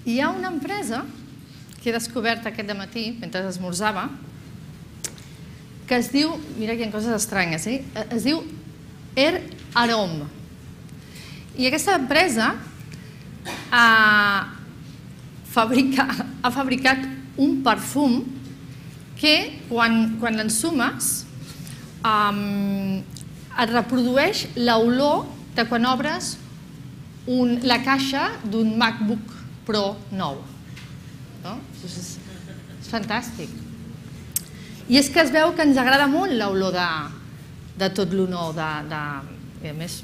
Hi ha una empresa que he descobert aquest dematí, mentre esmorzava, que es diu, mira que hi ha coses estranyes, es diu Air Arome. I aquesta empresa ha fabricat un perfum que quan l'ensumes et reprodueix l'olor de quan obres la caixa d'un MacBook Pro nou. És fantàstic. I és que es veu que ens agrada molt l'olor de tot lo nou. I a més,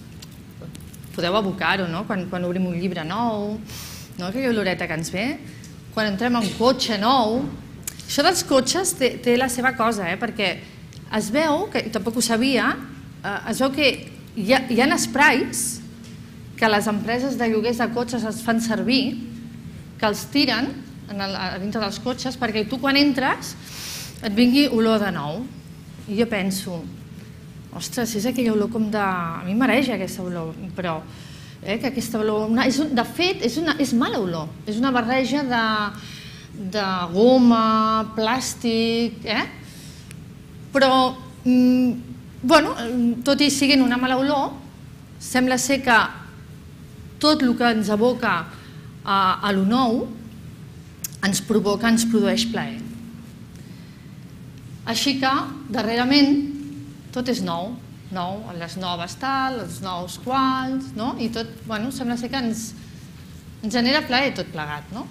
podeu evocar-ho, quan obrim un llibre nou, aquella oloreta que ens ve, quan entrem en un cotxe nou. Això dels cotxes té la seva cosa, perquè es veu, que tampoc ho sabia, es veu que hi ha esprais que les empreses de lloguers de cotxes es fan servir, que els tiren a dintre dels cotxes perquè tu quan entres et vingui olor de nou. I jo penso, ostres, és aquella olor com de... A mi m'areja aquesta olor, però que aquesta olor... De fet, és mala olor. És una barreja de goma, plàstic... Però, tot i siguent una mala olor, sembla ser que tot el que ens evoca a lo nou ens produeix plaer. Així que, darrerament, tot és nou, les noves tal, els nous quals, i tot, sembla ser que ens genera plaer tot plegat, no?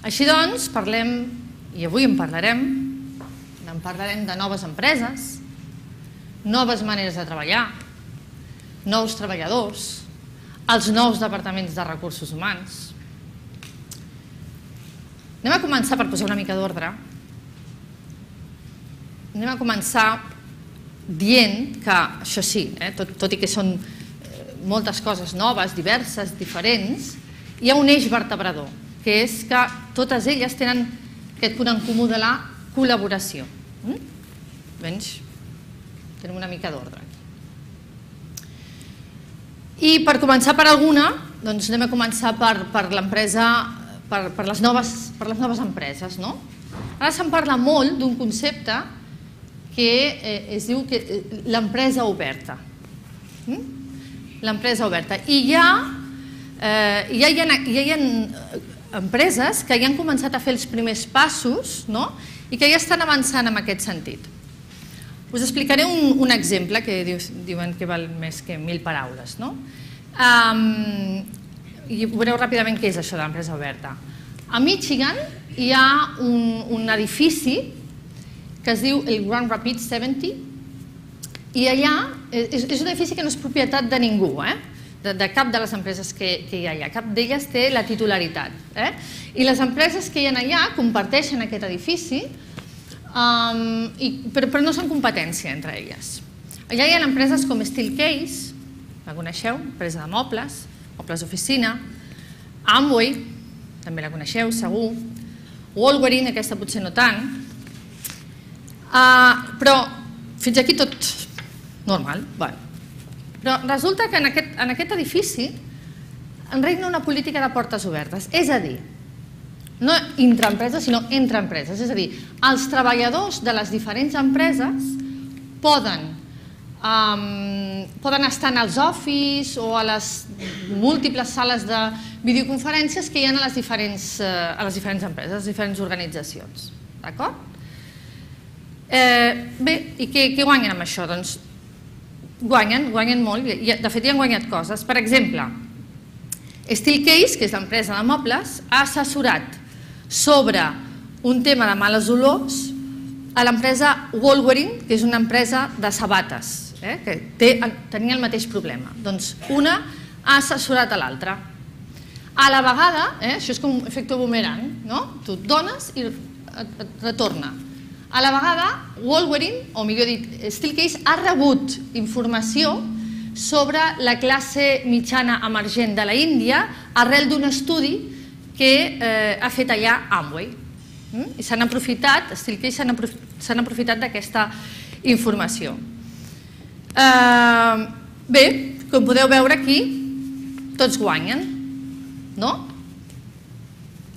Així doncs, parlem, i avui en parlarem de noves empreses, noves maneres de treballar, nous treballadors, els nous departaments de recursos humans. Anem a començar per posar una mica d'ordre. Anem a començar dient que, això sí, tot i que són moltes coses noves, diverses, diferents, hi ha un eix vertebrador, que és que totes elles tenen aquest punt en comú de la col·laboració. Doncs tenim una mica d'ordre. I per començar per alguna, doncs anem a començar per l'empresa, per les noves empreses. Ara se'n parla molt d'un concepte que es diu l'empresa oberta. L'empresa oberta. I ja hi ha empreses que ja han començat a fer els primers passos i que ja estan avançant en aquest sentit. Us explicaré un exemple que diuen que val més que 1000 paraules. I veureu ràpidament què és això de l'empresa oberta. A Michigan hi ha un edifici que es diu el Grand Rapids 70 i allà és un edifici que no és propietat de ningú, de cap de les empreses que hi ha allà. Cap d'elles té la titularitat. I les empreses que hi ha allà comparteixen aquest edifici, però no són competència entre elles. Allà hi ha empreses com Steelcase, la coneixeu, empresa de mobles d'oficina, Amway, també la coneixeu, segur, Wolverine, aquesta potser no tant, però fins aquí tot normal. Però resulta que en aquest edifici regna una política de portes obertes, és a dir, no entre empreses, sinó entre empreses. És a dir, els treballadors de les diferents empreses poden estar en els office o a les múltiples sales de videoconferències que hi ha a les diferents empreses, a les diferents organitzacions. D'acord? Bé, i què guanyen amb això? Doncs guanyen molt, de fet ja han guanyat coses. Per exemple, Steelcase, que és l'empresa de mobles, ha assessorat sobre un tema de males olors a l'empresa Wolverine, que és una empresa de sabates, que tenia el mateix problema. Doncs una ha assessorat a l'altra. A la vegada, això és com un efecte boomerang, tu et dones i et retorna. A la vegada, Wolverine, o millor dit, Steelcase, ha rebut informació sobre la classe mitjana emergent de la Índia arrel d'un estudi que ha fet allà Amway. I s'han aprofitat, Steelcase s'han aprofitat d'aquesta informació. Bé, com podeu veure aquí, tots guanyen, no?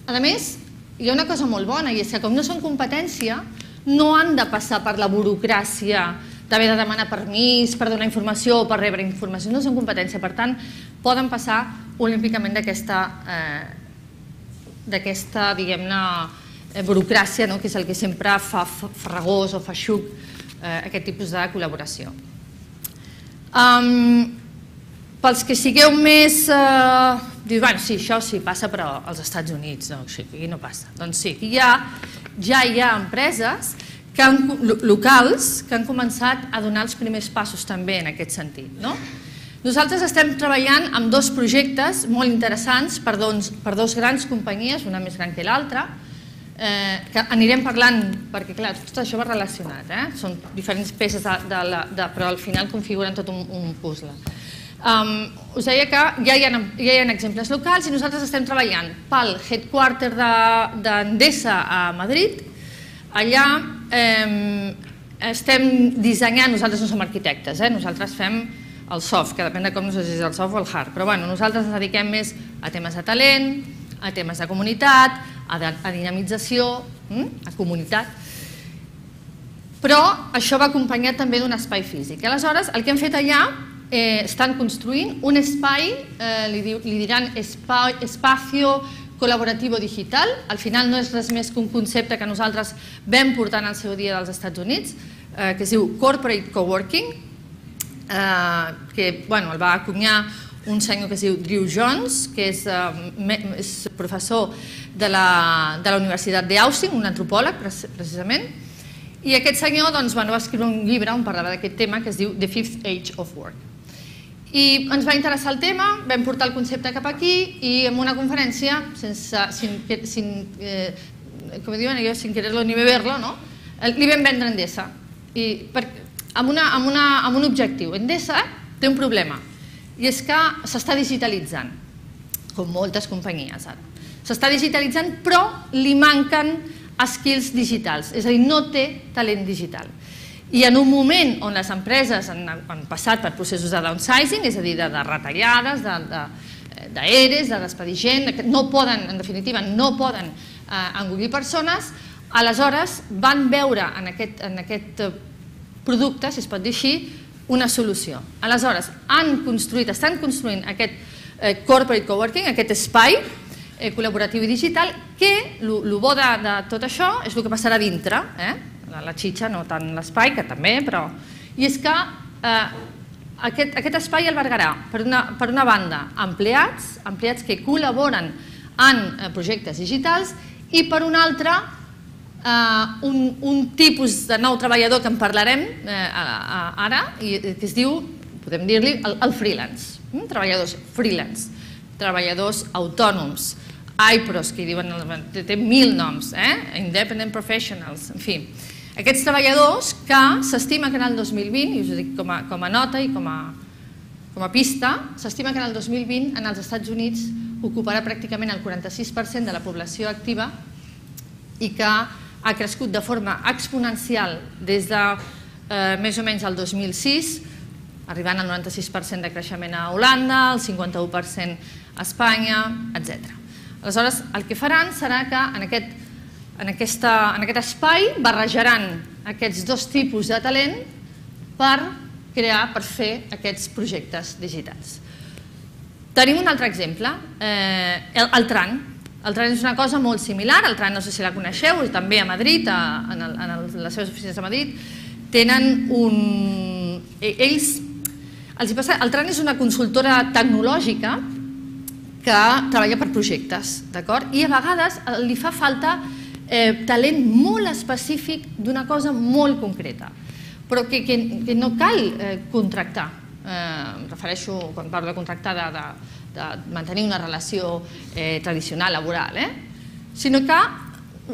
A més, hi ha una cosa molt bona, i és que com no són competència, no han de passar per la burocràcia d'haver de demanar permís per donar informació o per rebre informació, no són competència, per tant, poden passar olímpicament d'aquesta, diguem-ne, burocràcia, que és el que sempre fa farragós o feixuc aquest tipus de col·laboració. Pels que sigueu més... Dius, bueno, sí, això sí, passa però als Estats Units, aquí no passa. Doncs sí, aquí ja hi ha empreses locals que han començat a donar els primers passos també en aquest sentit. Nosaltres estem treballant amb dos projectes molt interessants per dos grans companyies, una més gran que l'altra, que anirem parlant, perquè clar, tot això va relacionat, són diferents peces, però al final configuren tot un puzzle. Us deia que ja hi ha exemples locals i nosaltres estem treballant pel headquarter d'Endesa a Madrid. Allà estem dissenyant, nosaltres no som arquitectes, nosaltres fem el soft, que depèn de com no sé si és el soft o el hard, però nosaltres ens dediquem més a temes de talent, a temes de comunitat, a dinamització, a comunitat, però això va acompanyat també d'un espai físic. Aleshores, el que hem fet allà, estan construint un espai, li diran espacio col·laboratiu digital, al final no és res més que un concepte que nosaltres vam portar en el seu dia dels Estats Units, que es diu Corporate Coworking, que el va acunyar un senyor que es diu Drew Jones, que és professor de la Universitat d'Austin, un antropòleg precisament, i aquest senyor va escriure un llibre on parlava d'aquest tema que es diu The Fifth Age of Work. I ens va interessar el tema, vam portar el concepte cap aquí i en una conferència, sin quererlo ni beberlo, li vam vendre Endesa amb un objectiu. Endesa té un problema i és que s'està digitalitzant, com moltes companyies ara. S'està digitalitzant però li manquen skills digitals, és a dir, no té talent digital. I en un moment on les empreses han passat per processos de downsizing, és a dir, de retallades, d'ERES, de despedir gent, no poden, en definitiva, no poden engollir persones, aleshores van veure en aquest producte, si es pot dir així, una solució. Aleshores, estan construint aquest corporate coworking, aquest espai col·laboratiu i digital, que el bo de tot això és el que passarà dintre, la xitxa, no tant l'espai, que també, però... I és que aquest espai albergarà, per una banda, empleats que col·laboren en projectes digitals i per una altra, un tipus de nou treballador que en parlarem ara, que es diu, podem dir-li, el freelance. Treballadors freelance, treballadors autònoms, IPROs, que diuen, té 1000 noms, independent professionals, en fi. Aquests treballadors que s'estima que en el 2020, i us ho dic com a nota i com a pista, s'estima que en el 2020 en els Estats Units ocuparà pràcticament el 46% de la població activa i que ha crescut de forma exponencial des de més o menys el 2006, arribant al 96% de creixement a Holanda, el 51% a Espanya, etc. Aleshores, el que faran serà que en aquest espai barrejaran aquests dos tipus de talent per fer aquests projectes digitals. Tenim un altre exemple, el TRAN. El TRAN és una cosa molt similar, el TRAN no sé si la coneixeu, també a Madrid, en les seves oficines de Madrid, tenen un... El TRAN és una consultora tecnològica que treballa per projectes, d'acord? I a vegades li fa falta talent molt específic d'una cosa molt concreta, però que no cal contractar. Em refereixo, quan parlo de contractar, de mantenir una relació tradicional, laboral, sinó que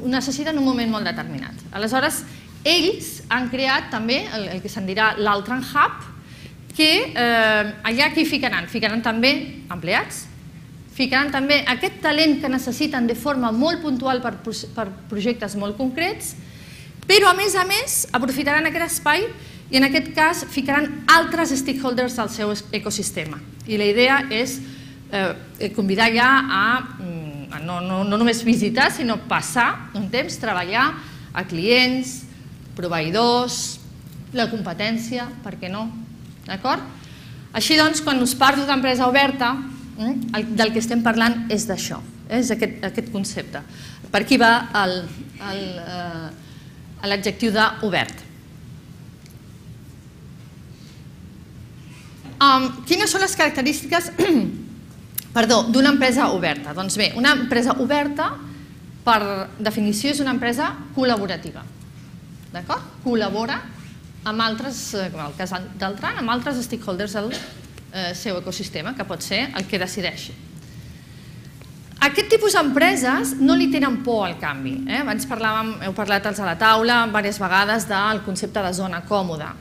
ho necessiten en un moment molt determinat. Aleshores, ells han creat també el que se'n dirà l'Altran Hub, que allà què hi ficaran? Ficaran també empleats, ficaran també aquest talent que necessiten de forma molt puntual per projectes molt concrets, però a més aprofitaran aquest espai i en aquest cas ficaran altres stakeholders al seu ecosistema. I la idea és convidar ja a no només visitar, sinó passar un temps, treballar a clients, proveïdors, la competència, per què no? D'acord? Així doncs, quan us parlo d'empresa oberta, del que estem parlant és d'això, és aquest concepte. Per aquí va l'adjectiu d'obert. Quines són les característiques d'una empresa oberta? Doncs bé, una empresa oberta, per definició, és una empresa col·laborativa. D'acord? Col·labora amb altres, en el cas d'Altran, amb altres stakeholders del seu ecosistema, que pot ser el que decideixi. Aquest tipus d'empreses no li tenen por al canvi. Abans heu parlat a la taula diverses vegades del concepte de zona còmoda.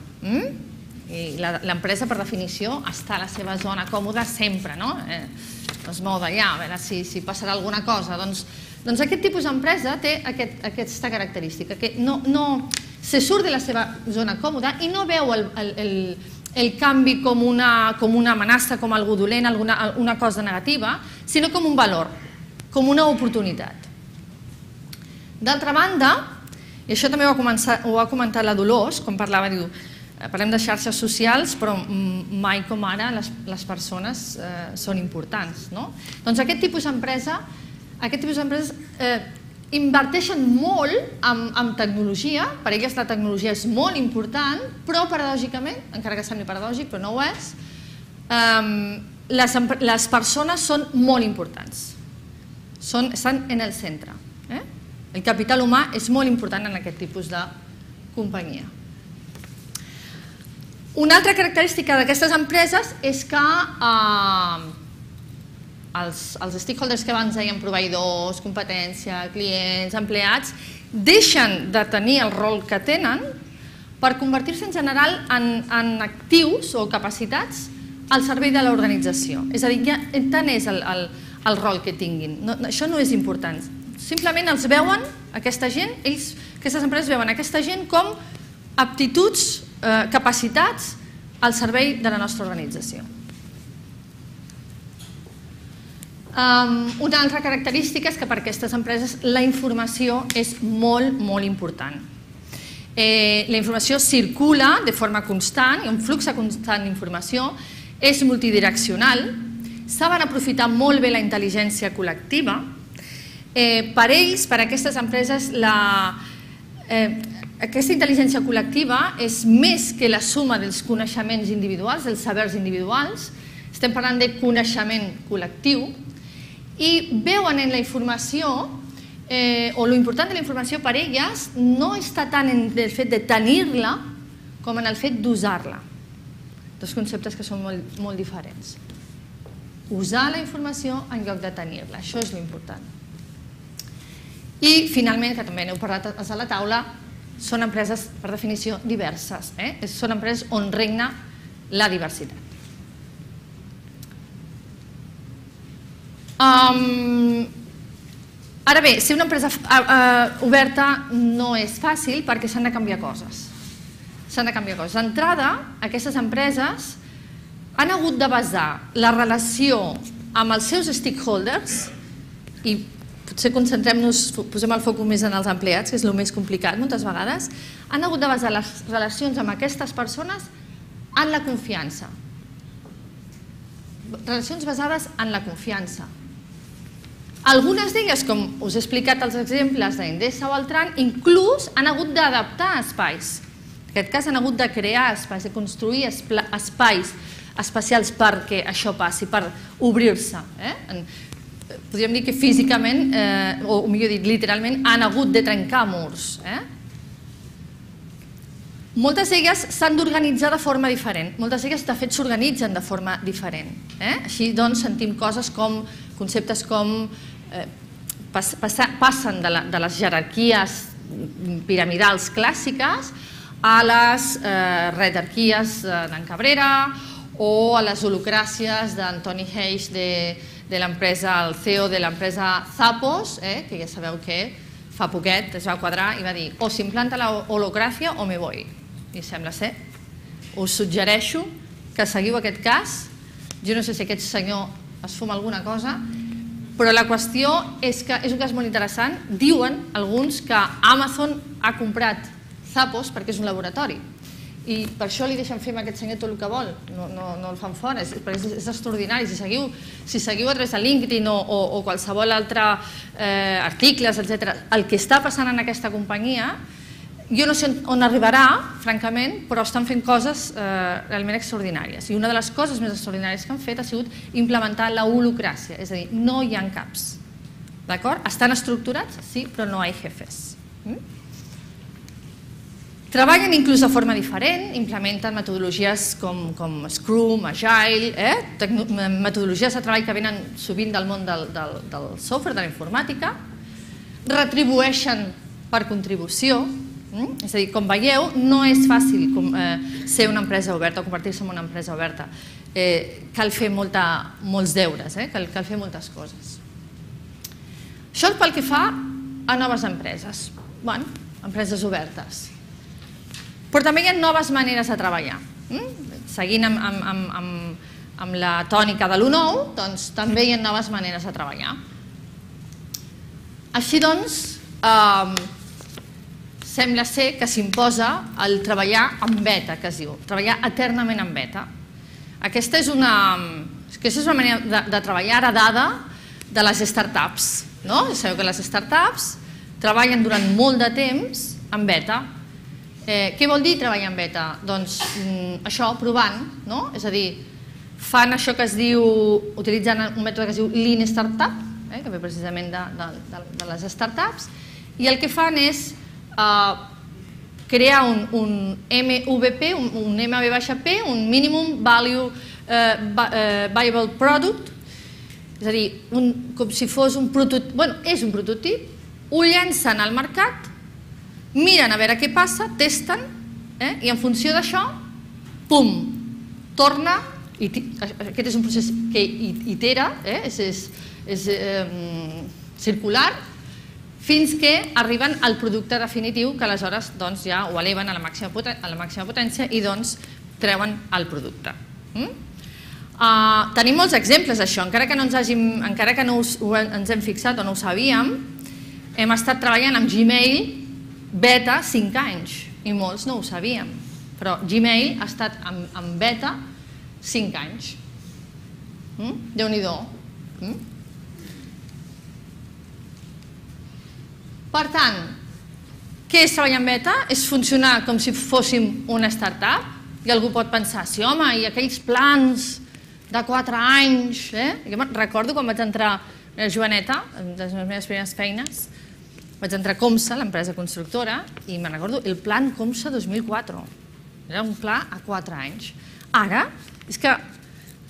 I l'empresa, per definició, està a la seva zona còmoda sempre, no? No es mou d'allà, a veure si passarà alguna cosa. Doncs aquest tipus d'empresa té aquesta característica, que se surt de la seva zona còmoda i no veu el canvi com una amenaça, com algú dolent, una cosa negativa, sinó com un valor, com una oportunitat. D'altra banda, i això també ho ha comentat la Dolors, quan parlava, diu, parlem de xarxes socials, però mai com ara les persones són importants. Doncs aquest tipus d'empreses inverteixen molt en tecnologia, per elles la tecnologia és molt important, però paradògicament, encara que sembli paradògic, però no ho és, les persones són molt importants, estan en el centre. El capital humà és molt important en aquest tipus de companyia. Una altra característica d'aquestes empreses és que els stakeholders que abans deien, proveïdors, competència, clients, empleats, deixen de tenir el rol que tenen per convertir-se en general en actius o capacitats al servei de l'organització. És a dir, tant és el rol que tinguin. Això no és important. Simplement els veuen, aquesta gent, aquestes empreses veuen aquesta gent com aptituds, capacitats al servei de la nostra organització. Una altra característica és que per aquestes empreses la informació és molt, molt important. La informació circula de forma constant, hi ha un flux constant d'informació, és multidireccional, saben aprofitar molt bé la intel·ligència col·lectiva. Per ells, per aquestes empreses, aquesta intel·ligència col·lectiva és més que la suma dels coneixements individuals, dels sabers individuals, estem parlant de coneixement col·lectiu, i veuen en la informació, o l'important de la informació per elles, no està tant en el fet de tenir-la com en el fet d'usar-la. Dos conceptes que són molt diferents. Usar la informació en lloc de tenir-la, això és l'important. I finalment, que també n'heu parlat a la taula, són empreses, per definició, diverses. Són empreses on regna la diversitat. Ara bé, ser una empresa oberta no és fàcil perquè s'han de canviar coses. D'entrada, aquestes empreses han hagut de basar la relació amb els seus stakeholders, i potser concentrem-nos, posem el focus més en els empleats, que és el més complicat moltes vegades, han hagut de basar les relacions amb aquestes persones en la confiança. Relacions basades en la confiança. Algunes d'elles, com us he explicat els exemples d'Endesa o Altran, inclús han hagut d'adaptar espais. En aquest cas han hagut de crear espais, de construir espais especials perquè això passi, per obrir-se. Podríem dir que físicament, o millor dit, literalment, han hagut de trencar murs. Moltes d'elles s'han d'organitzar de forma diferent. Moltes d'elles, de fet, s'organitzen de forma diferent. Així, doncs, sentim conceptes com passen de les jerarquies piramidals clàssiques a les redarquies d'en Cabrera o a les holocràcies d'Antoni Heix de l'empresa, el CEO de l'empresa Zappos, que ja sabeu que fa poquet es va quadrar i va dir o s'implanta la holocràcia o me voy. I sembla ser. Us suggereixo que seguiu aquest cas. Jo no sé si aquest senyor es fuma alguna cosa, però la qüestió és que és un cas molt interessant. Diuen alguns que Amazon ha comprat Zappos perquè és un laboratori i per això li deixen fer amb aquest senyor tot el que vol, no el fan fora, perquè és extraordinari. Si seguiu a través de LinkedIn o qualsevol altre articles, etc., el que està passant en aquesta companyia, jo no sé on arribarà, francament, però estan fent coses realment extraordinàries. I una de les coses més extraordinàries que han fet ha sigut implementar la holocràcia, és a dir, no hi ha caps. D'acord? Estan estructurats, sí, però no hi ha jefes. Treballen inclús de forma diferent, implementen metodologies com Scrum, Agile, metodologies de treball que venen sovint del món del software, de la informàtica, retribueixen per contribució. És a dir, com veieu, no és fàcil ser una empresa oberta o convertir-se en una empresa oberta. Cal fer molts deures, cal fer moltes coses. Això és pel que fa a noves empreses, empreses obertes. Però també hi ha noves maneres de treballar. Seguint amb la tònica de l'1.9, doncs també hi ha noves maneres de treballar. Així doncs, sembla ser que s'imposa el treballar en beta, que es diu, treballar eternament en beta. Aquesta és una manera de treballar heredada de les startups. Sabeu que les startups treballen durant molt de temps en beta. Què vol dir treballar en beta? Doncs això, provant, és a dir, fan això que es diu, utilitzant un mètode que es diu Lean Startup, que ve precisament de les startups, i el que fan és crear un MVP, un MVP, un Minimum Viable Product, és a dir, com si fos un prototip, és un prototip, ho llancen al mercat, miren a veure què passa, testen, i en funció d'això, pum, torna, aquest és un procés que itera, és circular, fins que arriben al producte definitiu, que aleshores ja ho eleven a la màxima potència i treuen el producte. Tenim molts exemples d'això, encara que no ens hem fixat o no ho sabíem, hem estat treballant amb Gmail beta 5 anys, i molts no ho sabíem, però Gmail ha estat en beta 5 anys. Déu-n'hi-do. Per tant, què és treballar en beta? És funcionar com si fóssim una startup? I algú pot pensar, sí home, i aquells plans de 4 anys... Jo recordo quan vaig entrar a Joaneta, de les meves primeres feines, vaig entrar a Comsa, l'empresa constructora, i me'n recordo el plan Comsa 2004. Era un pla a 4 anys. Ara, és que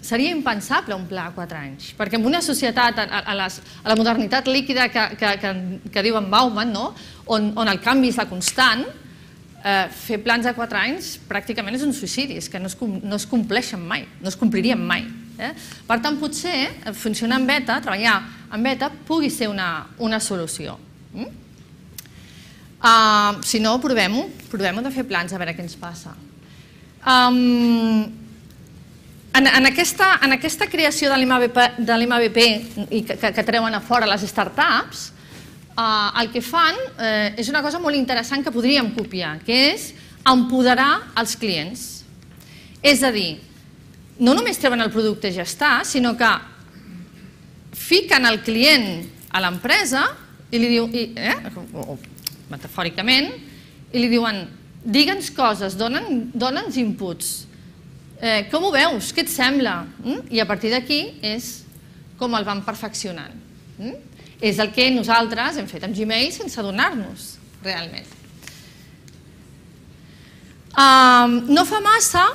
seria impensable un pla a 4 anys, perquè en una societat, a la modernitat líquida que diu en Bauman, on el canvi és la constant, fer plans a 4 anys pràcticament és un suïcidi, és que no es compleixen mai, no es complirien mai. Per tant, potser funcionar en beta, treballar en beta, pugui ser una solució. Si no, provem-ho de fer plans a veure què ens passa. En aquesta creació de l'MVP que treuen a fora les startups, el que fan és una cosa molt interessant que podríem copiar, que és empoderar els clients. És a dir, no només treuen el producte i ja està, sinó que fiquen el client a l'empresa i li diuen, metafòricament, i li diuen, digue'ns coses, dona'ns inputs. Com ho veus? Què et sembla? I a partir d'aquí és com el van perfeccionant. És el que nosaltres hem fet amb Gmail sense adonar-nos, realment. No fa massa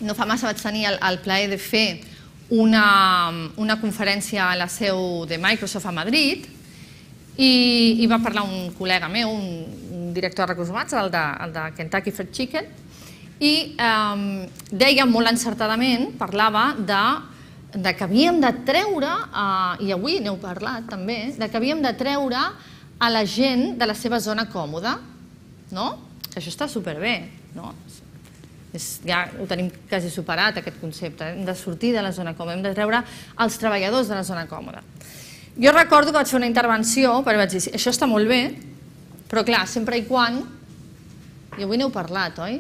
vaig tenir el plaer de fer una conferència a la seu de Microsoft a Madrid i va parlar un col·lega meu, un director de recursos humans, el de Kentucky Fried Chicken, i deia molt encertadament, parlava de que havíem de treure, i avui n'heu parlat també, de que havíem de treure a la gent de la seva zona còmoda, que això està superbé, Ja ho tenim quasi superat, aquest concepte. Hem de sortir de la zona còmoda, hem de treure els treballadors de la zona còmoda. Jo recordo que vaig fer una intervenció, perquè vaig dir, això està molt bé, però clar, sempre i quan, i avui n'heu parlat, oi?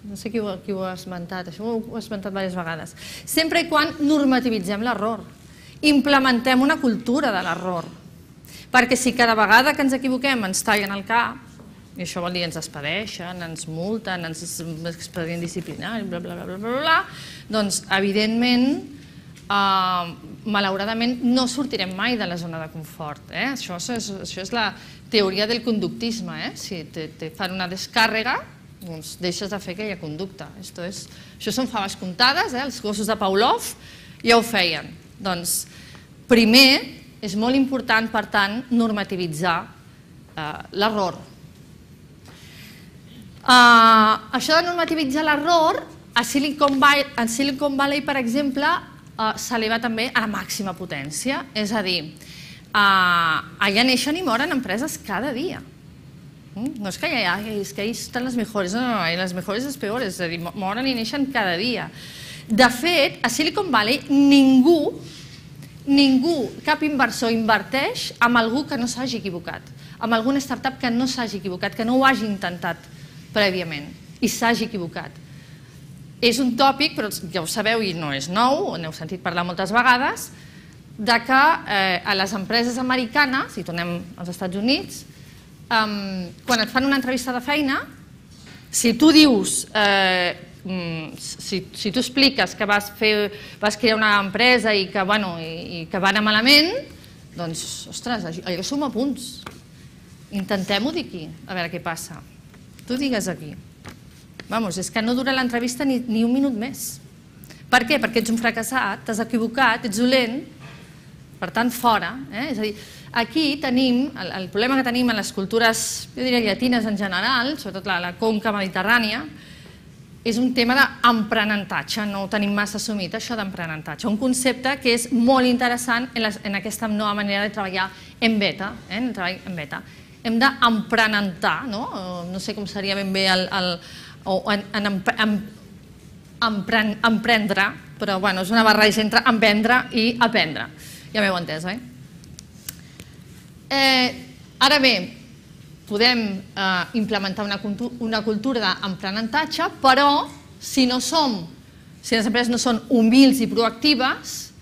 No sé qui ho ha esmentat, això ho he esmentat diverses vegades. Sempre i quan normativitzem l'error, implementem una cultura de l'error, perquè si cada vegada que ens equivoquem ens tallen el cap, i això vol dir ens despedeixen, ens multen, ens expedient disciplinari, bla, bla, bla, bla, bla, doncs, evidentment, malauradament, no sortirem mai de la zona de confort. Això és la teoria del conductisme. Si te fan una descàrrega, doncs deixes de fer aquella conducta. Això són faves comptades, els gossos de Pavlov ja ho feien. Doncs, primer, és molt important, per tant, normativitzar l'error. Això de normativitzar l'error, a Silicon Valley, per exemple, s'eleva també a la màxima potència. És a dir, allà neixen i moren empreses cada dia. No és que ahí estan les millors, no, les millors les peores, és a dir, moren i neixen cada dia. De fet, a Silicon Valley ningú, cap inversor inverteix amb algú que no s'hagi equivocat, amb alguna startup que no s'hagi equivocat, que no ho hagi intentat prèviament i s'hagi equivocat. És un tòpic, però ja ho sabeu i no és nou, n'heu sentit parlar moltes vegades, que a les empreses americanes, si tornem als Estats Units, quan et fan una entrevista de feina, si tu dius, si tu expliques que vas crear una empresa i que va anar malament, doncs, ostres, allò suma punts. Intentem-ho dir aquí, a veure què passa. Tu digues aquí. Vamos, és que no dura l'entrevista ni un minut més. Per què? Perquè ets un fracassat, t'has equivocat, ets dolent, per tant, fora. És a dir, aquí tenim, el problema que tenim en les cultures, jo diria llatines en general, sobretot la conca mediterrània, és un tema d'emprenentatge, no ho tenim massa assumit, això d'emprenentatge. Un concepte que és molt interessant en aquesta nova manera de treballar en beta. Hem d'emprenentar, no sé com seria ben bé emprendre, però és una barreja entre emprendre i aprendre. Ja m'heu entès, oi? Ara bé, podem implementar una cultura d'emprenentatge, però si les empreses no són humils i proactives,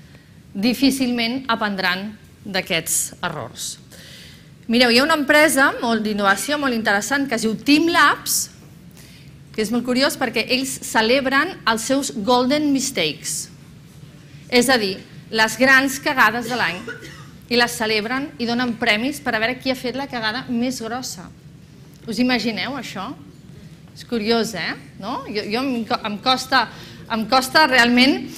difícilment aprendran d'aquests errors. Mireu, hi ha una empresa d'innovació molt interessant que es diu TeamLabs, que és molt curiós perquè ells celebren els seus golden mistakes, és a dir, les grans cagades de l'any, i les celebren i donen premis per a veure qui ha fet la cagada més grossa. Us imagineu això? És curiós, em costa realment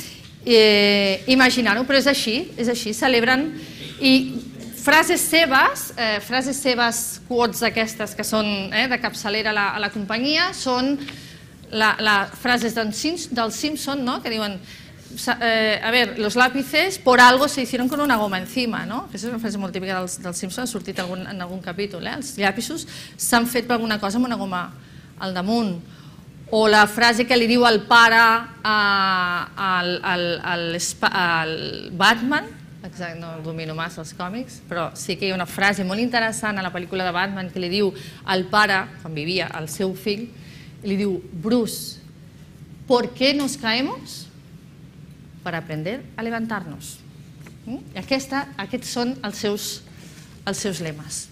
imaginar-ho, però és així, celebren i frases seves, quotes aquestes que són de capçalera a la companyia, són les frases dels Simpson, que diuen, a ver, los lápices por algo se hicieron con una goma encima, no? Aquesta és una frase molt típica dels Simpson, ha sortit en algun capítol, els llapisos s'han fet per alguna cosa amb una goma al damunt. O la frase que li diu el pare al Batman, no domino massa els còmics, però sí que hi ha una frase molt interessant a la pel·lícula de Batman que li diu al pare, quan vivia, al seu fill, li diu, Bruce, ¿por qué nos caemos? Para aprender a levantarnos. I aquests són els seus lemes.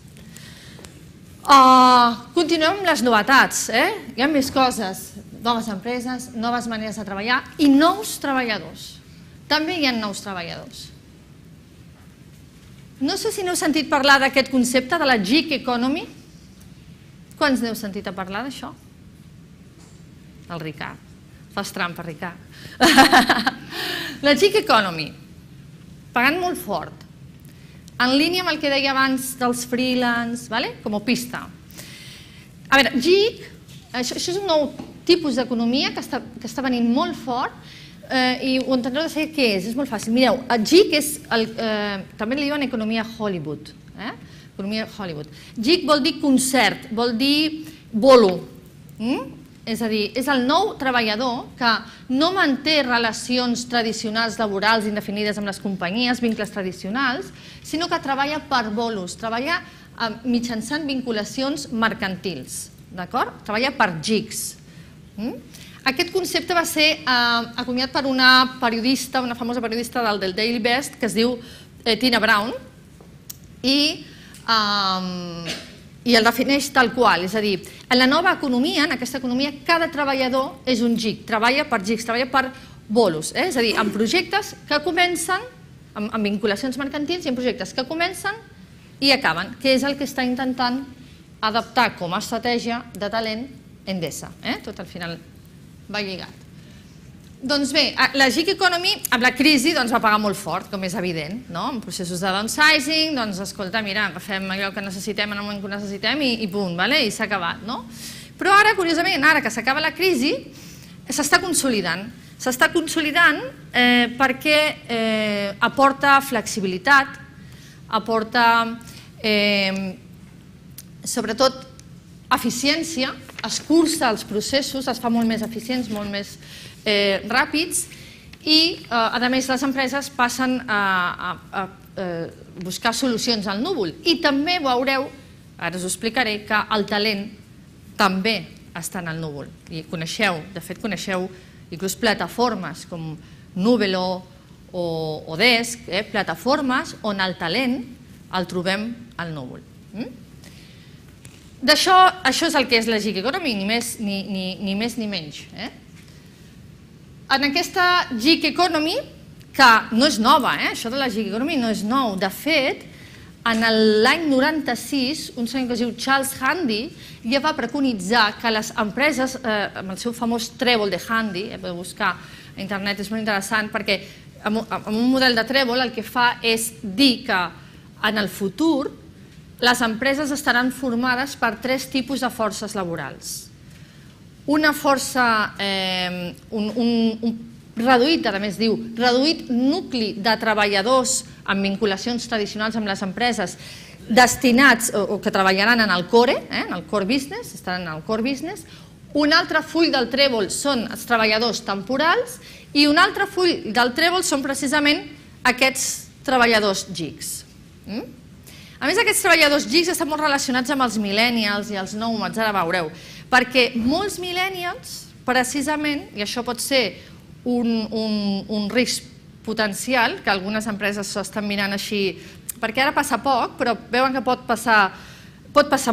Continuem amb les novetats. Hi ha més coses, noves empreses, noves maneres de treballar i nous treballadors. També hi ha nous treballadors. No sé si n'heu sentit parlar d'aquest concepte de la gig economy. Quants n'heu sentit a parlar d'això? El Ricard. Fas trampa, Ricard. La gig economy. Pagant molt fort. En línia amb el que deia abans dels freelance, com a pista. A veure, gig, això és un nou tipus d'economia que està venint molt fort i ho entendreu de saber què és molt fàcil. Mireu, el gig és, també li diuen economia Hollywood. Economia Hollywood. Gig vol dir concert, vol dir bolo. És a dir, és el nou treballador que no manté relacions tradicionals laborals indefinides amb les companyies, vincles tradicionals, sinó que treballa per bolos, treballa mitjançant vinculacions mercantils, d'acord? Treballa per gigs. Aquest concepte va ser acunyat per una periodista, una famosa periodista del Daily Beast, que es diu Tina Brown, i el defineix tal qual, és a dir, en la nova economia, en aquesta economia, cada treballador és un gig, treballa per gigs, treballa per bolos, és a dir, en projectes que comencen, amb vinculacions mercantils i en projectes que comencen i acaben, que és el que està intentant adaptar com a estratègia de talent Endesa. Tot al final va lligat. Doncs bé, la gig economy amb la crisi va pagar molt fort, com és evident, en processos de downsizing, doncs escolta, mira, agafem allò que necessitem en el moment que ho necessitem i punt, i s'ha acabat. Però ara, curiosament, ara que s'acaba la crisi, s'està consolidant. S'està consolidant perquè aporta flexibilitat, aporta sobretot eficiència, es cursa els processos, es fa molt més eficients, molt més ràpids i, a més, les empreses passen a buscar solucions al núvol. I també veureu, ara us ho explicaré, que el talent també està en el núvol. I coneixeu, de fet coneixeu inclús plataformes com Nuvelo o Desk, plataformes on el talent el trobem al núvol. Això és el que és la gig economy, ni més ni menys. En aquesta gig economy, que no és nova, això de la gig economy no és nou, de fet, en l'any 96, un senyor que es diu Charles Handy ja va preconitzar que les empreses, amb el seu famós trèvol de Handy, podeu buscar a internet, és molt interessant, perquè amb un model de trèvol el que fa és dir que en el futur les empreses estaran formades per 3 tipus de forces laborals. Una força, reduït, a més diu, reduït nucli de treballadors amb vinculacions tradicionals amb les empreses destinats o que treballaran en el core business, estaran en el core business. Un altre full del trèvol són els treballadors temporals i un altre full del trèvol són precisament aquests treballadors gigs. A més, aquests treballadors gigs estan molt relacionats amb els millennials i els nòmades, ara veureu, perquè molts millennials, precisament, i això pot ser un risc potencial, que algunes empreses s'estan mirant així, perquè ara passa poc, però veuen que pot passar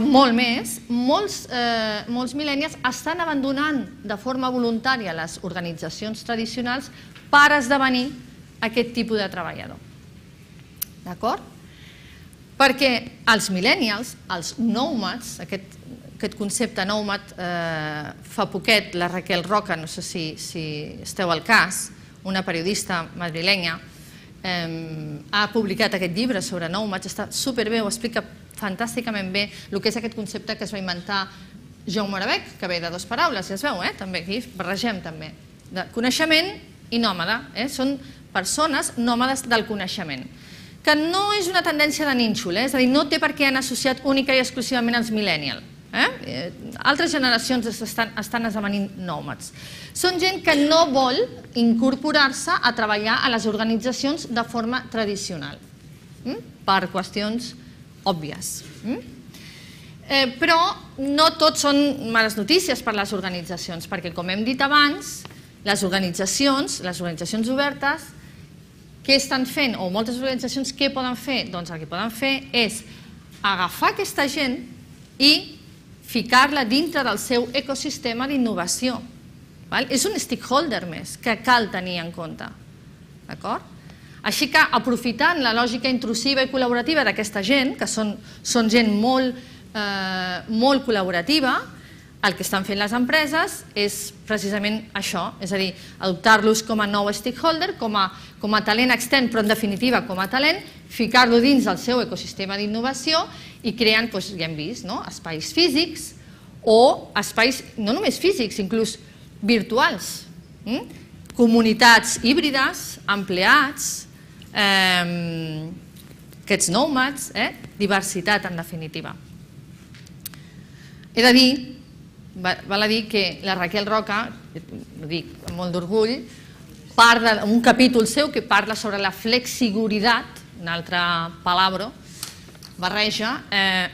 molt més, molts millennials estan abandonant de forma voluntària les organitzacions tradicionals per esdevenir aquest tipus de treballador. D'acord? Perquè els millennials, els nòmades, aquest concepte nòmad, fa poquet la Raquel Roca, no sé si esteu al cas, una periodista madrilenya, ha publicat aquest llibre sobre nòmades, està superbé, ho explica fantàsticament bé el que és aquest concepte que es va inventar Jaume Arabec, que ve de 2 paraules, ja es veu, també aquí barregem també, de coneixement i nòmada, són persones nòmades del coneixement, que no és una tendència de nínxol, és a dir, no té per què anar associat única i exclusivament als millennials. Altres generacions estan esdevenint nòmades. Són gent que no vol incorporar-se a treballar a les organitzacions de forma tradicional, per qüestions òbvies. Però no tot són males notícies per a les organitzacions, perquè, com hem dit abans, les organitzacions obertes, què estan fent, o moltes organitzacions què poden fer? Doncs el que poden fer és agafar aquesta gent i ficar-la dintre del seu ecosistema d'innovació. És un stakeholder més que cal tenir en compte. Així que, aprofitant la lògica intrusiva i col·laborativa d'aquesta gent, que són gent molt col·laborativa, el que estan fent les empreses és precisament això, és a dir, adoptar-los com a nou stakeholder, com a talent extern, però en definitiva com a talent, ficar-lo dins del seu ecosistema d'innovació i creant, ja hem vist, espais físics o espais no només físics, inclús virtuals, comunitats híbrides, empleats, aquests nòmades, diversitat en definitiva. He de dir val a dir que la Raquel Roca, ho dic amb molt d'orgull, parla en un capítol seu que parla sobre la flexiguridad, un altre palabra, barreja,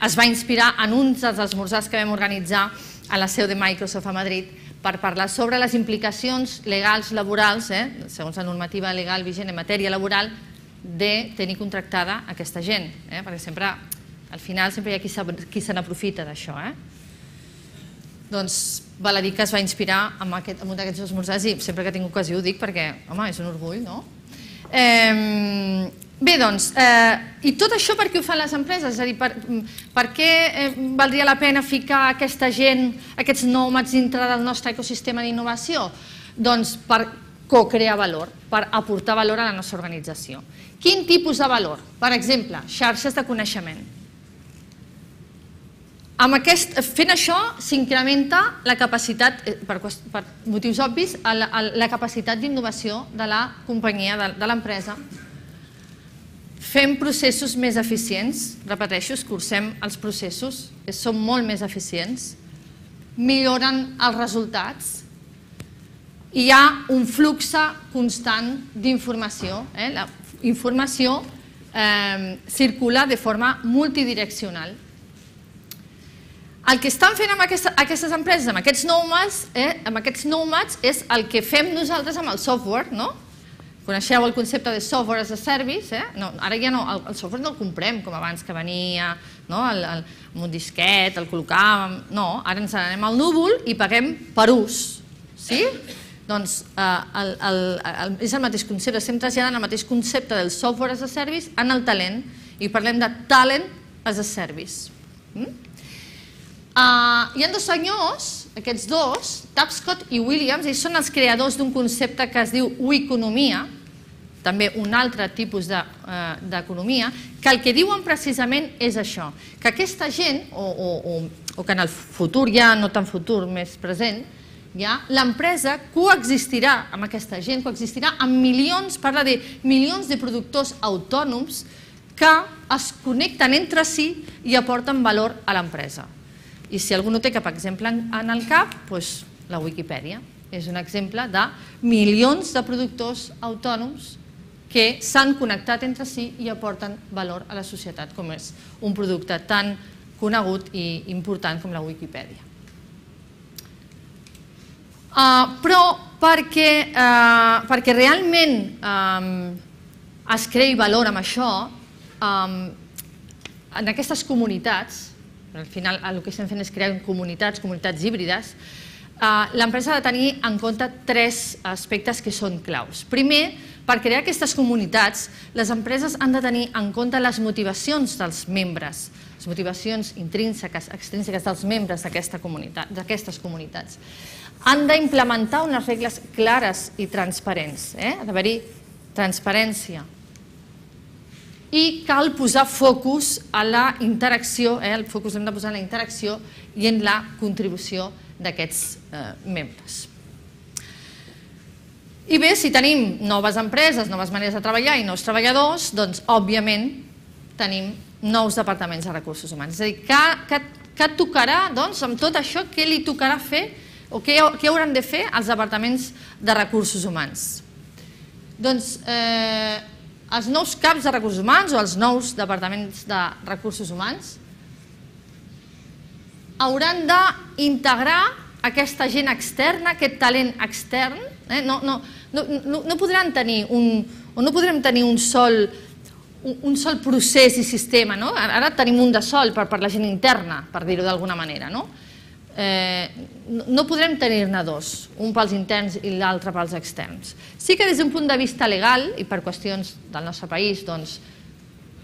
es va inspirar en uns dels esmorzars que vam organitzar a la seu de Microsoft a Madrid per parlar sobre les implicacions legals laborals, segons la normativa legal vigent en matèria laboral, de tenir contractada aquesta gent, perquè sempre, al final, sempre hi ha qui se n'aprofita d'això. Doncs val a dir que es va inspirar en un d'aquests esmorzars i sempre que tinc ocasió ho dic perquè, home, és un orgull, no? Bé, doncs, i tot això per què ho fan les empreses? És a dir, per què valdria la pena ficar aquesta gent, aquests nòmades dintre del nostre ecosistema d'innovació? Doncs per co-crear valor, per aportar valor a la nostra organització. Quin tipus de valor? Per exemple, xarxes de coneixement. Fent això s'incrementa la capacitat, per motius obvis, la capacitat d'innovació de la companyia, de l'empresa. Fem processos més eficients, repeteixo, escurcem els processos, som molt més eficients, milloren els resultats, i hi ha un flux constant d'informació. La informació circula de forma multidireccional. El que estan fent amb aquestes empreses, amb aquests nòmades, és el que fem nosaltres amb el software, no? Coneixeu el concepte de software as a service? Ara ja no, el software no el comprem com abans que venia amb un disquet, el col·locàvem... No, ara ens n'anem al núvol i paguem per ús. Sí? Doncs és el mateix concepte, estem traslladant el mateix concepte del software as a service en el talent i parlem de talent as a service. Hi ha dos senyors, aquests dos, Tapscott i Williams, ells són els creadors d'un concepte que es diu oeconomia, també un altre tipus d'economia, que el que diuen precisament és això, que aquesta gent, o que en el futur ja, no tan futur, més present, l'empresa coexistirà amb aquesta gent, coexistirà amb milions, parla de milions de productors autònoms que es connecten entre si i aporten valor a l'empresa. I si algú no té cap exemple en el cap, doncs la Wikipedia és un exemple de milions de productors autònoms que s'han connectat entre si i aporten valor a la societat, com és un producte tan conegut i important com la Wikipedia. Però perquè realment es creï valor amb això, en aquestes comunitats, al final el que estem fent és crear comunitats híbrides, l'empresa ha de tenir en compte tres aspectes que són claus. Primer, per crear aquestes comunitats, les empreses han de tenir en compte les motivacions dels membres, les motivacions intrínseques, extrínseques dels membres d'aquestes comunitats. Han d'implementar unes regles clares i transparents, ha d'haver-hi transparència. I cal posar focus a la interacció, el focus l'hem de posar en la interacció i en la contribució d'aquests membres. I bé, si tenim noves empreses, noves maneres de treballar i nous treballadors, doncs, òbviament, tenim nous departaments de recursos humans. És a dir, què tocarà, doncs, amb tot això, què li tocarà fer o què hauran de fer els departaments de recursos humans? Doncs, els nous caps de recursos humans o els nous departaments de recursos humans hauran d'integrar aquesta gent externa, aquest talent extern. No podrem tenir un sol procés i sistema. Ara tenim un de sol per la gent interna, per dir-ho d'alguna manera. No podrem tenir-ne dos, un pels interns i l'altre pels externs. Sí que des d'un punt de vista legal i per qüestions del nostre país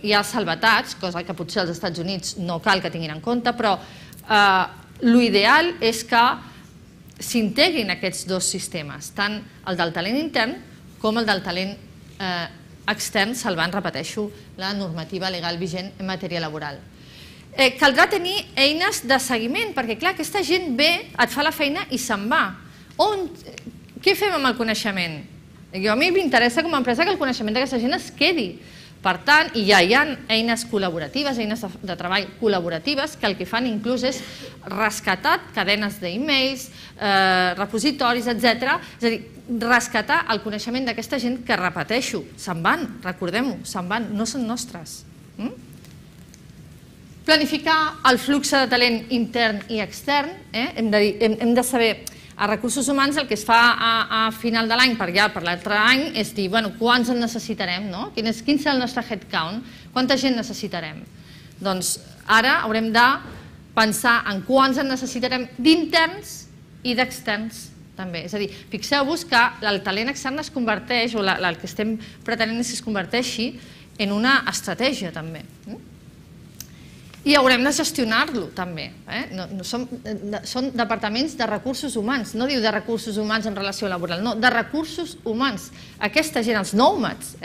hi ha salvetats, cosa que potser als Estats Units no cal que tinguin en compte, però l'ideal és que s'integrin aquests dos sistemes, tant el del talent intern com el del talent extern, salvant, repeteixo, la normativa legal vigent en matèria laboral. Caldrà tenir eines de seguiment, perquè clar, aquesta gent ve, et fa la feina i se'n va. Què fem amb el coneixement? A mi m'interessa com a empresa que el coneixement d'aquesta gent es quedi, Per tant, ja hi ha eines col·laboratives, eines de treball col·laboratives que el que fan inclús és rescatar cadenes d'e-mails, repositoris, etc. És a dir, rescatar el coneixement d'aquesta gent que, repeteixo, se'n van, recordem-ho, se'n van, no són nostres. Planificar el flux de talent intern i extern, hem de saber, a recursos humans el que es fa a final de l'any per l'altre any és dir, quants en necessitarem, quin serà el nostre headcount, quanta gent necessitarem. Doncs ara haurem de pensar en quants en necessitarem d'interns i d'externs també. És a dir, fixeu-vos que el talent extern es converteix, o el que estem pretenent és que es converteixi en una estratègia també. I haurem de gestionar-lo també. Són departaments de recursos humans, no diu de recursos humans en relació laboral, no, de recursos humans. Aquesta gent, els nòmades,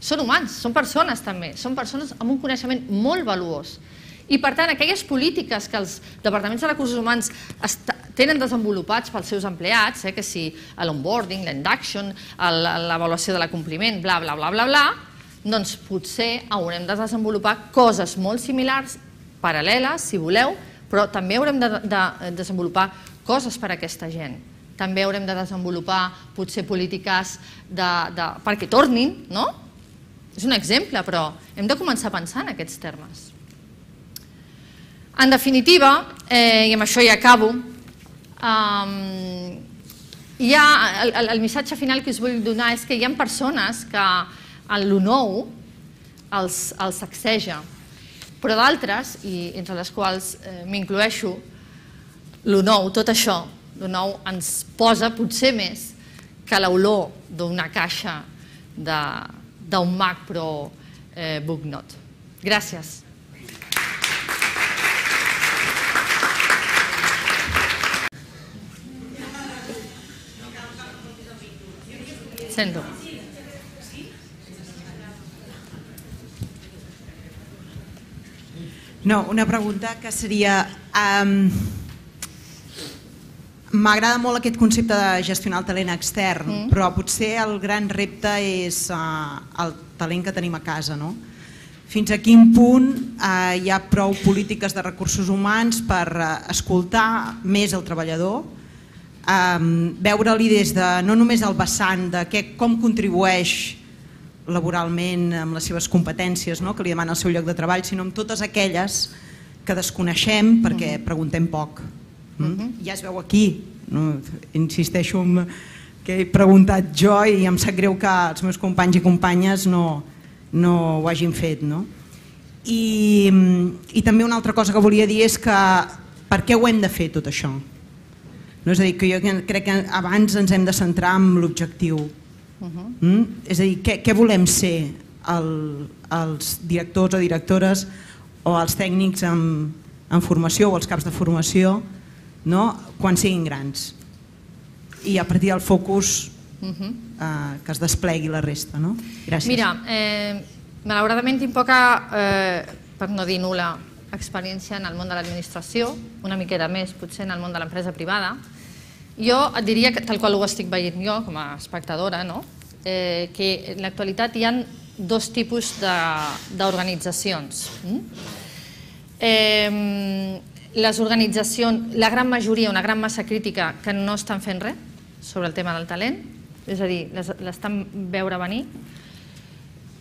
són humans, són persones també, són persones amb un coneixement molt valuós. I per tant, aquelles polítiques que els departaments de recursos humans tenen desenvolupats pels seus empleats, que si l'onboarding, l'induction, l'avaluació de l'acompliment, bla, bla, bla, bla, bla, doncs potser haurem de desenvolupar coses molt similars, paral·leles, si voleu, però també haurem de desenvolupar coses per a aquesta gent. També haurem de desenvolupar potser polítiques perquè tornin, no? És un exemple, però hem de començar a pensar en aquests termes. En definitiva, i amb això ja acabo, el missatge final que us vull donar és que hi ha persones que lo nou els sacseja, però d'altres, i entre les quals m'incloeixo, lo nou, tot això, lo nou ens posa potser més que l'olor d'una caixa d'un Mac Pro Booknote. Gràcies. Sento. No, una pregunta que seria... M'agrada molt aquest concepte de gestionar el talent extern, però potser el gran repte és el talent que tenim a casa, no? Fins a quin punt hi ha prou polítiques de recursos humans per escoltar més el treballador, veure-li des de no només el vessant de com contribueix laboralment amb les seves competències que li demana el seu lloc de treball, sinó amb totes aquelles que desconeixem perquè preguntem poc. Ja es veu aquí, insisteixo que he preguntat jo i em sap greu que els meus companys i companyes no ho hagin fet. I també una altra cosa que volia dir és que per què ho hem de fer tot això? És a dir, que jo crec que abans ens hem de centrar en l'objectiu. És a dir, què volem ser els directors o directores o els tècnics en formació o els caps de formació quan siguin grans, i a partir del focus que es desplegui la resta. Gràcies. Mira, malauradament tinc poca, per no dir nul·la, experiència en el món de l'administració, una miqueta més potser en el món de l'empresa privada. Jo et diria, tal qual ho estic veient jo com a espectadora, que en l'actualitat hi ha dos tipus d'organitzacions. Les organitzacions, la gran majoria, una gran massa crítica, que no estan fent res sobre el tema del talent, és a dir, l'estan veure venir.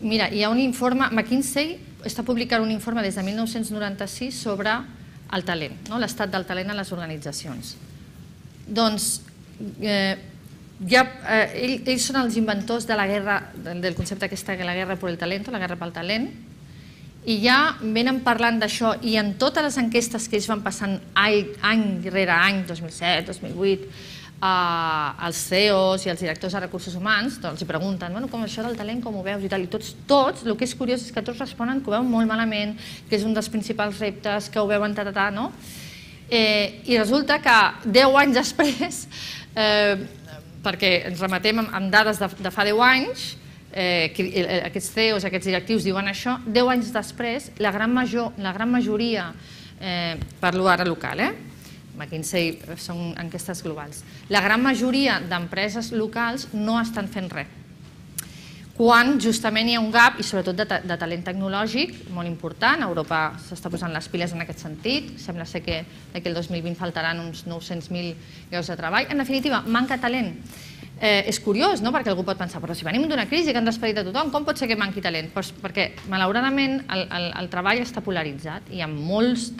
Mira, hi ha un informe, McKinsey està publicant un informe des de 1996 sobre el talent, l'estat del talent a les organitzacions. Doncs ells són els inventors de la guerra, del concepte aquesta, la guerra per el talent, la guerra pel talent, i ja venen parlant d'això, i en totes les enquestes que ells van passant any rere any, 2007, 2008, als CEOs i als directors de recursos humans, els pregunten, com això del talent, com ho veus i tal, i tots, el que és curiós és que tots responen que ho veuen molt malament, que és un dels principals reptes, que ho veuen no? I resulta que 10 anys després, perquè ens remetem amb dades de fa 10 anys, aquests CEOs, aquests directius diuen això, 10 anys després, la gran majoria, parlo ara local, McKinsey són enquestes globals, la gran majoria d'empreses locals no estan fent res. quan justament hi ha un gap, i sobretot de talent tecnològic, molt important. Europa s'està posant les piles en aquest sentit. Sembla ser que d'aquí al 2020 faltaran uns 900.000 llocs de treball. En definitiva, manca talent. És curiós, no?, perquè algú pot pensar, però si venim d'una crisi que han despedit a tothom, com pot ser que manqui talent? Perquè, malauradament, el treball està polaritzat. Hi ha molts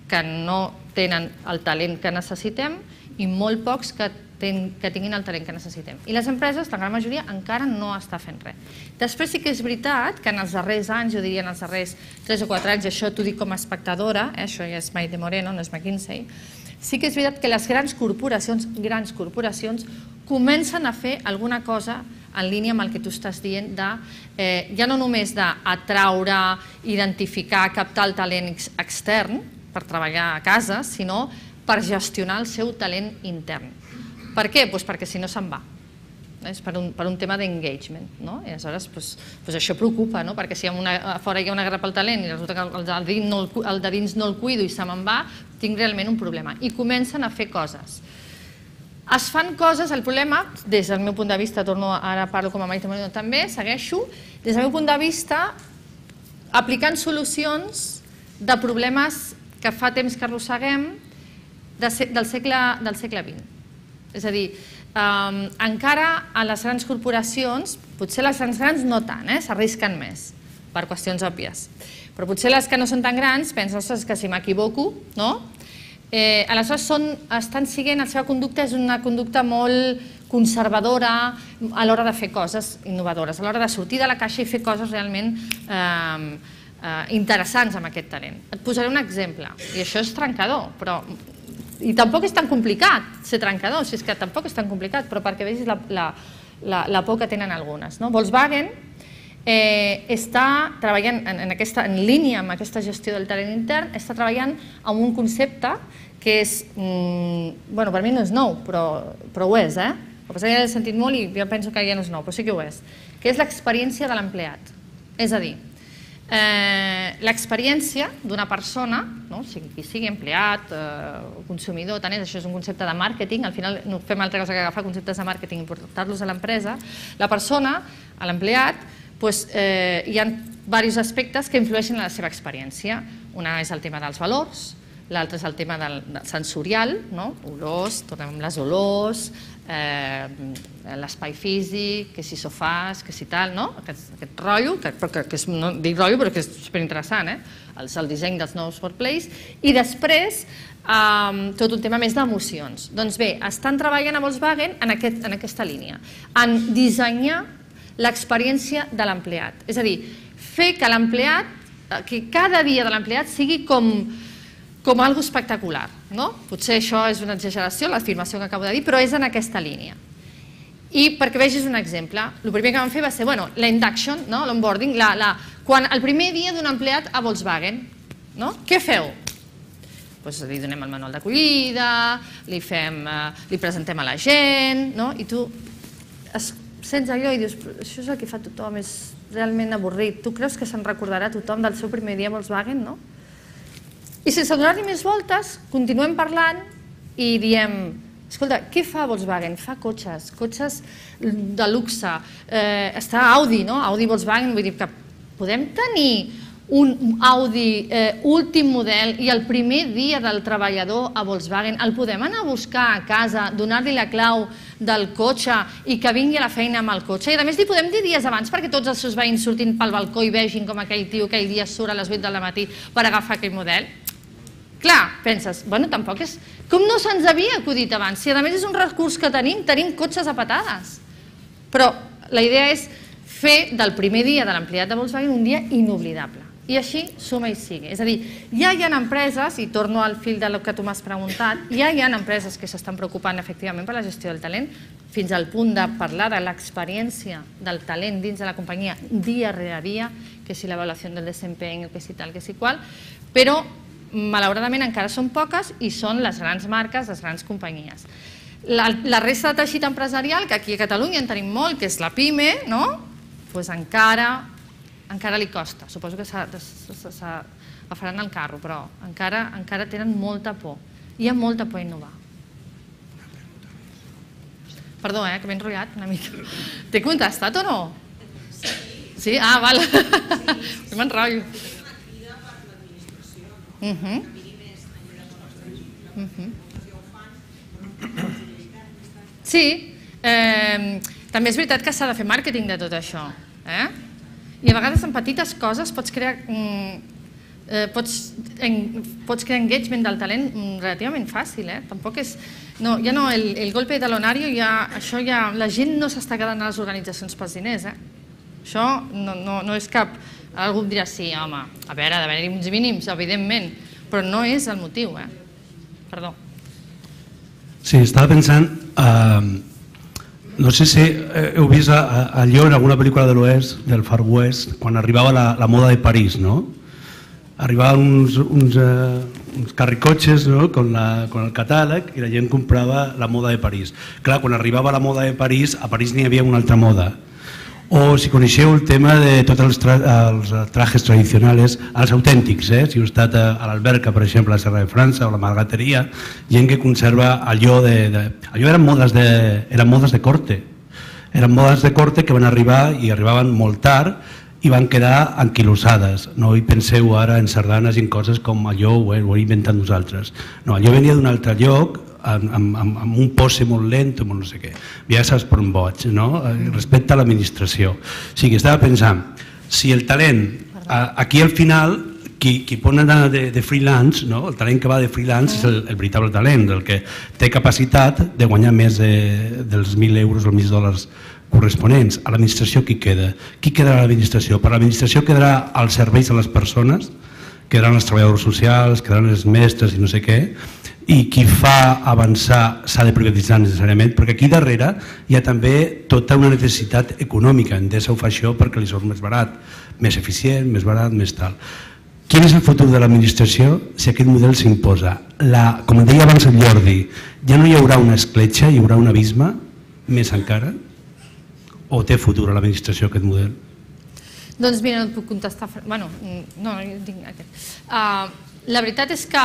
que no tenen el talent que necessitem i molt pocs que tinguin el talent que necessitem. I les empreses, la gran majoria, encara no està fent res. Després sí que és veritat que en els darrers anys, jo diria en els darrers 3 o 4 anys, això t'ho dic com a espectadora, això ja és Maite Moreno, no és McKinsey, sí que és veritat que les grans corporacions comencen a fer alguna cosa en línia amb el que tu estàs dient ja no només d'atraure, identificar, captar el talent extern per treballar a casa, sinó per gestionar el seu talent intern. Per què? Perquè si no se'n va. És per un tema d'engagement. I aleshores això preocupa, perquè si a fora hi ha una guerra pel talent i resulta que el de dins no el cuido i se me'n va, tinc realment un problema. I comencen a fer coses. Es fan coses, el problema, des del meu punt de vista, ara parlo com a Maite Moreno també, segueixo, des del meu punt de vista, aplicant solucions de problemes que fa temps que arrosseguem del segle XX. És a dir, encara a les grans corporacions, potser les grans no tant, s'arrisquen més, per qüestions òbvies, però potser les que no són tan grans pensen, ostres, que si m'equivoco, no? Aleshores estan siguent, la seva conducta és una conducta molt conservadora a l'hora de fer coses innovadores, a l'hora de sortir de la caixa i fer coses realment interessants amb aquest talent. Et posaré un exemple, i això és trencador, i tampoc és tan complicat ser trencador, si és que tampoc és tan complicat, però perquè vegis la por que tenen algunes. Volkswagen està treballant en línia amb aquesta gestió del talent intern, està treballant amb un concepte que és, per mi no és nou, però ho és, el que passa que ja l'he sentit molt i jo penso que ja no és nou, però sí que ho és, que és l'experiència de l'empleat. És a dir, l'experiència d'una persona, qui sigui empleat o consumidor, tant és, això és un concepte de màrqueting, al final no fem altra cosa que agafar conceptes de màrqueting i portar-los a l'empresa, la persona, l'empleat, hi ha diversos aspectes que influeixen en la seva experiència. Una és el tema dels valors, l'altre és el tema sensorial, olors, tornem amb les olors, l'espai físic, que si sofàs, que si tal, aquest rotllo, que no dic rotllo però que és superinteressant, el disseny dels nous workplace, i després tot un tema més d'emocions. Doncs bé, estan treballant a Volkswagen en aquesta línia, en dissenyar l'experiència de l'empleat, és a dir, fer que l'empleat, que cada dia de l'empleat sigui com algo espectacular. Potser això és una exageració, l'afirmació que acabo de dir, però és en aquesta línia. I perquè vegis un exemple, el primer que vam fer va ser la induction, l'onboarding, quan el primer dia d'un empleat a Volkswagen, què feu? Li donem el manual d'acollida, li presentem a la gent, i tu sents allò i dius, això és el que fa tothom, és realment avorrit. Tu creus que se'n recordarà tothom del seu primer dia a Volkswagen, no? I sense donar-li més voltes, continuem parlant i diem, escolta, què fa Volkswagen? Fa cotxes de luxe, està Audi, Audi Volkswagen, vull dir que podem tenir un Audi últim model i el primer dia del treballador a Volkswagen el podem anar a buscar a casa, donar-li la clau del cotxe i que vingui a la feina amb el cotxe. I a més li podem dir dies abans perquè tots els seus veïns surtin pel balcó i vegin com aquell tio aquell dia surt a les 8 del matí per agafar aquell model. Clar, penses, tampoc és... Com no se'ns havia acudit abans? Si a més és un recurs que tenim cotxes a patades. Però la idea és fer del primer dia de l'empleat de Volkswagen un dia inoblidable. I així suma i sigue. És a dir, ja hi ha empreses, i torno al fil del que tu m'has preguntat, ja hi ha empreses que s'estan preocupant efectivament per la gestió del talent, fins al punt de parlar de l'experiència del talent dins de la companyia dia rere dia, que si l'avaluació del desempeño, que si tal, que si qual, però malauradament encara són poques i són les grans marques, les grans companyies. La resta de teixit empresarial, que aquí a Catalunya en tenim molt, que és la PIME, doncs encara li costa. Suposo que agafaran el carro, però encara tenen molta por. Hi ha molta por a innovar. Perdó, que m'he enrotllat una mica. T'he contestat o no? Sí? Ah, val. M'enrotllo. Sí, també és veritat que s'ha de fer màrqueting de tot això. I a vegades en petites coses pots crear engagement del talent relativament fàcil. Tampoc és... Ja no, el golpe de talonario, això ja... La gent no s'està quedant a les organitzacions pels diners. Això no és cap... Algú dirà, sí, home, a veure, ha d'haver-hi uns mínims, evidentment, però no és el motiu. Perdó. Sí, estava pensant... No sé si heu vist allò en alguna pel·lícula de l'Oest, del Far West, quan arribava la moda de París, no? Arribaven uns carricotxes con el catàleg i la gent comprava la moda de París. Clar, quan arribava la moda de París, a París n'hi havia una altra moda. O si coneixeu el tema de tots els trajes tradicionals, els autèntics, si heu estat a l'Alberca, per exemple, a la Serra de França o a la Margateria, gent que conserva allò allò eren modes de corte. Eren modes de corte que van arribar i arribaven molt tard i van quedar anquilosades. No hi penseu ara en sardanes i en coses com allò ho he inventat nosaltres. No, allò venia d'un altre lloc, amb un pose molt lent, molt no sé què. Ja saps per on boig, no? Respecte a l'administració. O sigui, estava pensant, si el talent, aquí al final, qui pot anar de freelance, el talent que va de freelance és el veritable talent, el que té capacitat de guanyar més dels 1.000 euros o 1.000 dòlars corresponents. A l'administració qui queda? Qui quedarà a l'administració? Per l'administració quedarà als serveis a les persones, quedaran els treballadors socials, quedaran els mestres i no sé què, i qui fa avançar s'ha de privatitzar necessàriament, perquè aquí darrere hi ha també tota una necessitat econòmica. Endesa ho fa això perquè li surt més barat, més eficient, més barat, més tal. Quin és el futur de l'administració si aquest model s'imposa? Com deia abans el Jordi, ja no hi haurà una escletxa, hi haurà un abisme, més encara? O té futur a l'administració aquest model? Doncs mira, no et puc contestar... Bueno, no, jo tinc aquest. La veritat és que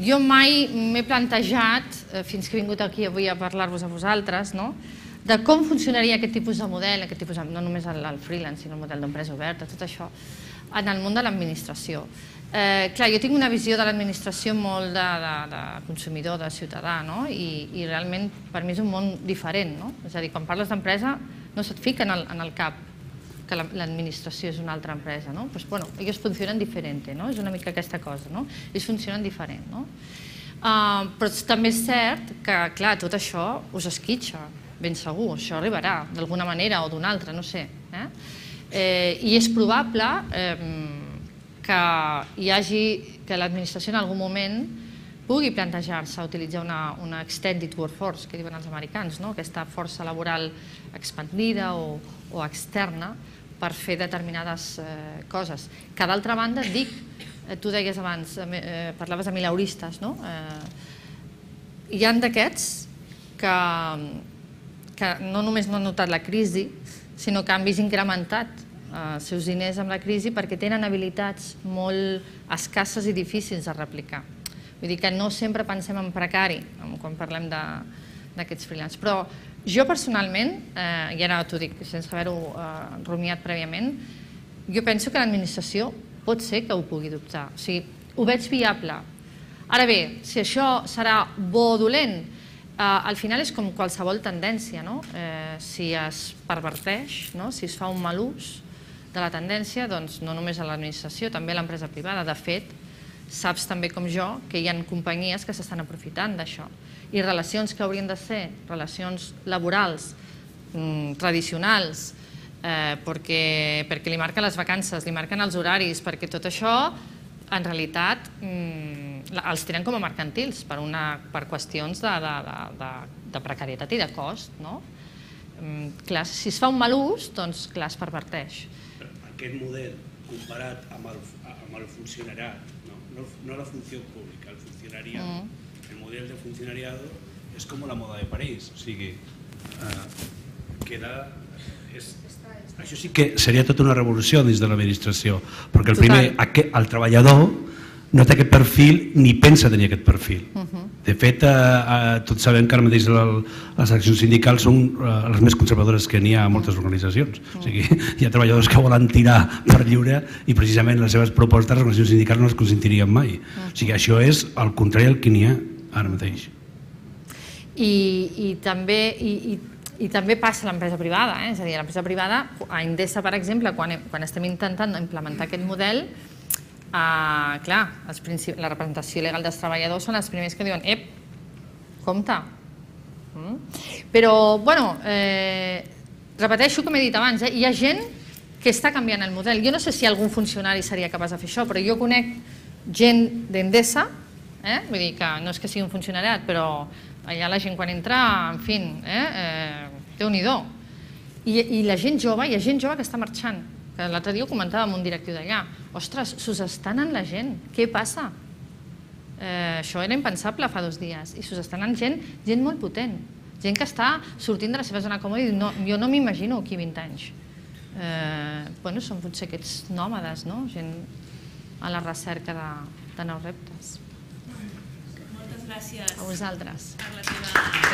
jo mai m'he plantejat, fins que he vingut aquí avui a parlar-vos a vosaltres, de com funcionaria aquest tipus de model, no només el freelance, sinó el model d'empresa oberta, tot això, en el món de l'administració. Clar, jo tinc una visió de l'administració molt de consumidor, de ciutadà, i realment per mi és un món diferent. És a dir, quan parles d'empresa no se't fica en el cap que l'administració és una altra empresa. Ells funcionen diferent, és una mica aquesta cosa, ells funcionen diferent. Però també és cert que, clar, tot això us esquitxa, ben segur, això arribarà d'alguna manera o d'una altra, no sé. I és probable que l'administració en algun moment pugui plantejar-se utilitzar una extended workforce, que diuen els americans, aquesta força laboral expandida o externa per fer determinades coses. Que d'altra banda, dic, tu deies abans, parlaves de mileuristes, hi ha d'aquests que no només no han notat la crisi, sinó que han vist incrementat els seus diners amb la crisi perquè tenen habilitats molt escasses i difícils de replicar. Vull dir que no sempre pensem en precari quan parlem d'aquests freelance. Però jo personalment, i ara t'ho dic sense haver-ho rumiat prèviament, jo penso que l'administració pot ser que ho pugui adoptar. O sigui, ho veig viable. Ara bé, si això serà bo o dolent, al final és com qualsevol tendència. Si es perverteix, si es fa un mal ús de la tendència, doncs no només a l'administració, també a l'empresa privada. De fet, saps també com jo que hi ha companyies que s'estan aprofitant d'això. I relacions que haurien de ser relacions laborals tradicionals, perquè li marquen les vacances, li marquen els horaris, perquè tot això, en realitat, els tenen com a mercantils per qüestions de precarietat i de cost. Clar, si es fa un mal ús, doncs clar, es perverteix. Aquest model, comparat amb el funcionariat, no la funció pública, el funcionariado, el model de funcionariado és com la moda de París, o sigui, això sí que seria tota una revolució dins de l'administració, perquè el primer, el treballador no té aquest perfil ni pensa tenir aquest perfil. De fet, tots sabem que ara mateix les accions sindicals són les més conservadores que n'hi ha a moltes organitzacions. O sigui, hi ha treballadors que volen tirar per lliure i precisament les seves propostes, les organitzacions sindicals no les consentirien mai. O sigui, això és el contrari del que n'hi ha ara mateix. I també passa a l'empresa privada, és a dir, a l'empresa privada, a Endesa, per exemple, quan estem intentant implementar aquest model, clar, la representació legal dels treballadors són els primers que diuen ep, compte. Però, bueno, repeteixo com he dit abans, hi ha gent que està canviant el model. Jo no sé si algun funcionari seria capaç de fer això, però jo conec gent d'Endesa, vull dir que no és que sigui un funcionariat, però allà la gent quan entra, en fi, Déu-n'hi-do. I la gent jove, hi ha gent jove que està marxant. L'altre dia ho comentava amb un directiu d'allà. Ostres, s'us està anant la gent, què passa? Això era impensable fa 2 dies. I s'us està anant gent molt potent, gent que està sortint de la seva zona còmoda i diu, jo no m'imagino aquí 20 anys. Bueno, són potser aquests nòmades, gent a la recerca de nous reptes. Moltes gràcies. A vosaltres. Per la teva